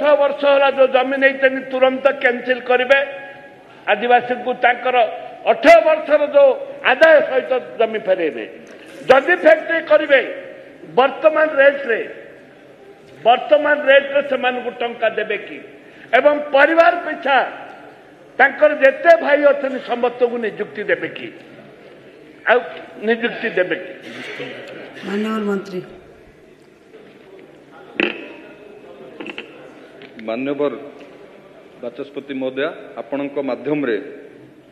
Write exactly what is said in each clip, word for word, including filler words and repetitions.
ଅଠର ବର୍ଷ ହେଲା ଯେଉଁ ଜମି ନେଇଛନ୍ତି ତୁରନ୍ତ କ୍ୟାନସେଲ କରିବେ, ଆଦିବାସୀଙ୍କୁ ତାଙ୍କର ଅଠର ବର୍ଷର ଯେଉଁ ଆଦାୟ ସହିତ ଜମି ଫେରାଇବେ। ଯଦି ଫ୍ୟାକ୍ଟ୍ରି କରିବେ, ବର୍ତ୍ତମାନ ରେଟ୍ରେ ବର୍ତ୍ତମାନ ରେଟ୍ରେ ସେମାନଙ୍କୁ ଟଙ୍କା ଦେବେ କି, ଏବଂ ପରିବାର ପିଛା ତାଙ୍କର ଯେତେ ଭାଇ ଅଛନ୍ତି ସମସ୍ତଙ୍କୁ ନିଯୁକ୍ତି ଦେବେ କି, ଆଉ ନିଯୁକ୍ତି ଦେବେ କି? ମାନ୍ୟବର ମନ୍ତ୍ରୀ। ମାନ୍ୟବର ବାଚସ୍ପତି ମହୋଦୟା, ଆପଣଙ୍କ ମାଧ୍ୟମରେ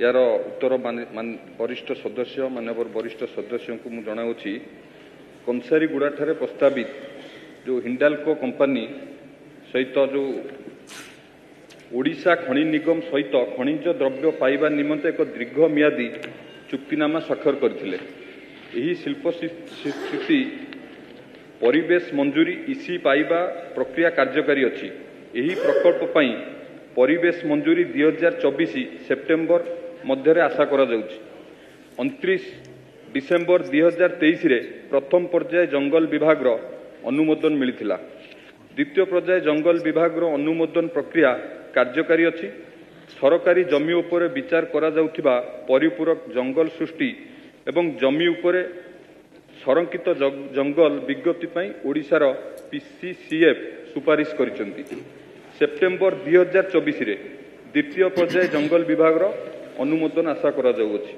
ଏହାର ଉତ୍ତର ବରିଷ୍ଠ ସଦସ୍ୟ, ମାନ୍ୟବର ବରିଷ୍ଠ ସଦସ୍ୟଙ୍କୁ ମୁଁ ଜଣାଉଛି। କଂସାରୀଗୁଡ଼ାଠାରେ ପ୍ରସ୍ତାବିତ ଯେଉଁ ହିଣ୍ଡାଲକୋ କମ୍ପାନୀ ସହିତ ଯେଉଁ ଓଡ଼ିଶା ଖଣି ନିଗମ ସହିତ ଖଣିଜ ଦ୍ରବ୍ୟ ପାଇବା ନିମନ୍ତେ ଏକ ଦୀର୍ଘ ମିଆଦୀ ଚୁକ୍ତିନାମା ସ୍ୱାକ୍ଷର କରିଥିଲେ। ଏହି ଶିଳ୍ପ ସ୍ଥିତି ପରିବେଶ ମଞ୍ଜୁରୀ ଇସି ପାଇବା ପ୍ରକ୍ରିୟା କାର୍ଯ୍ୟକାରୀ ଅଛି। ଏହି ପ୍ରକଳ୍ପ ପାଇଁ ପରିବେଶ ମଞ୍ଜୁରୀ ଦୁଇ ହଜାର ଚବିଶ ସେପ୍ଟେମ୍ବର ମଧ୍ୟରେ ଆଶା କରାଯାଉଛି। ଅଣତିରିଶ ଡିସେମ୍ବର ଦୁଇ ହଜାର ତେଇଶରେ ପ୍ରଥମ ପର୍ଯ୍ୟାୟ ଜଙ୍ଗଲ ବିଭାଗର ଅନୁମୋଦନ ମିଳିଥିଲା। ଦ୍ୱିତୀୟ ପର୍ଯ୍ୟାୟ ଜଙ୍ଗଲ ବିଭାଗର ଅନୁମୋଦନ ପ୍ରକ୍ରିୟା କାର୍ଯ୍ୟକାରୀ ଅଛି। ସରକାରୀ ଜମି ଉପରେ ବିଚାର କରାଯାଉଥିବା ପରିପୂରକ ଜଙ୍ଗଲ ସୃଷ୍ଟି ଏବଂ ଜମି ଉପରେ ସଂରକ୍ଷିତ ଜଙ୍ଗଲ ବିଜ୍ଞପ୍ତି ପାଇଁ ଓଡ଼ିଶାର ପିସିସିଏଫ୍ ସୁପାରିଶ କରିଛନ୍ତି। ସେପ୍ଟେମ୍ବର ଦୁଇ ହଜାର ଚବିଶରେ ଦ୍ୱିତୀୟ ପର୍ଯ୍ୟାୟ ଜଙ୍ଗଲ ବିଭାଗର ଅନୁମୋଦନ ଆଶା କରାଯାଉଅଛି।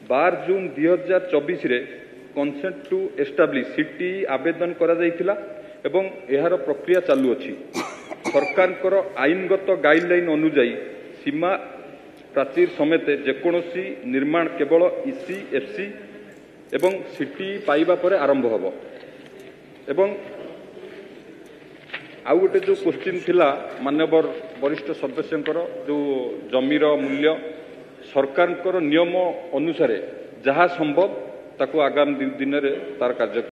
ବାର ଜୁନ୍ ଦୁଇ ହଜାର ଚବିଶରେ କନସେଣ୍ଟ ଟୁ ଏଷ୍ଟାବ୍ଲିଶ ସିଟି ଆବେଦନ କରାଯାଇଥିଲା ଏବଂ ଏହାର ପ୍ରକ୍ରିୟା ଚାଲୁଅଛି। ସରକାରଙ୍କର ଆଇନଗତ ଗାଇଡଲାଇନ୍ ଅନୁଯାୟୀ ସୀମା ପ୍ରାଚୀର ସମେତ ଯେକୌଣସି ନିର୍ମାଣ କେବଳ ଇସି, ଏଫ୍ସି ଏବଂ ସିଟି ପାଇବା ପରେ ଆରମ୍ଭ ହେବ। ଏବଂ ଆଉ ଗୋଟେ ଯେଉଁ କୋଶ୍ଚିନ୍ ଥିଲା ମାନ୍ୟବର ବରିଷ୍ଠ ସଦସ୍ୟଙ୍କର, ଯେଉଁ ଜମିର ମୂଲ୍ୟ, ସରକାରଙ୍କର ନିୟମ ଅନୁସାରେ ଯାହା ସମ୍ଭବ ତାକୁ ଆଗାମୀ ଦିନରେ ତାର କାର୍ଯ୍ୟ